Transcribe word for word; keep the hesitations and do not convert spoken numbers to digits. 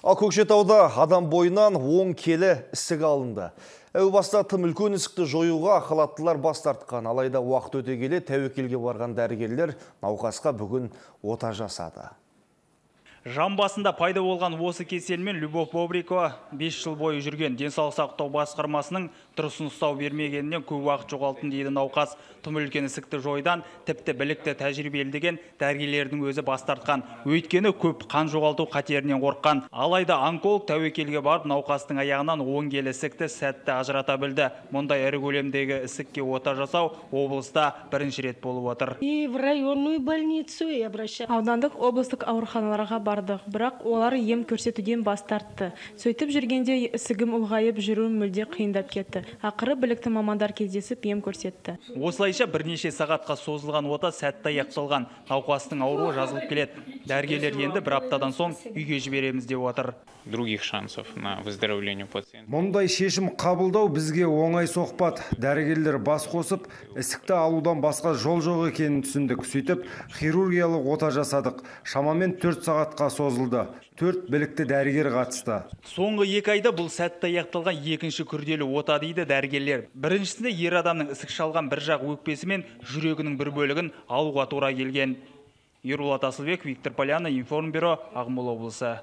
Ал Көкшетауда адам бойынан он келі ісік алынды. Әу баста тым үлкен ісікті жоюға халаттылар бас тартқан. Алайда уақыт өте келе тәуекелге барған дәрігерлер науқасқа бүгін ота жасады. Жан басында пайда болған осы кеселмен Любовь Бобрикова бес жыл бойы жүрген. Денсаулық сақтау басқармасының дұрыс ұстау бермегенінен көп уақыт жоғалтын дейді науқас. Тым үлкен ісікті жойдан тіпті білікті тәжірибелі деген дәрігерлердің өзі бас тартқан. Өйткені көп қан жоғалту қатерінен қорыққан. Алайда онколог тәуекелге барып науқастың аяғынан он келі ісікті сәтті ажырата білді. Мұндай ірі көлемдегі ісікке ота жасау облыста бірінші рет болып отыр. И в районную больницу и обращаюсь. Аудандық облыстық ауруханаларға бардық, бірақ олар ем көрсетуден бас тартты. Сөйтіп жүргенде ісігім ұлғайып жүруім мүлде қиындап кетті. Ақыры білікті мамандар кездесіп ем көрсетті. Осылайша бірнеше сағатқа созылған ота сәтті аяқталған. Науқастың ауруы жазылып келеді. Дәрігерлер енді бір аптадан соң үйге жібереміз деп отыр. Других шансов на выздоровление пациента. Мұндай шешім қабылдау бізге оңай соқпады. Дәрігерлер бас қосып, ісікті алудан басқа жол жоқ екенін түсіндік. Сөйтіп, хирургиялық ота жасадық. Шамамен төрт сағатқа созылды. Төрт білікті дәрігер қатысты. Соңғы екі айда бұл сәтті аяқталған екінші күрделі ота дейді дәрігерлер. Біріншісінде ер адамның ісік шалған бір жақ өкпесі мен жүрегінің бір бөлігін алуға тура келген. Ерболат Асылбек, Виктор Поляна, Информбюро, Ақмола облысы.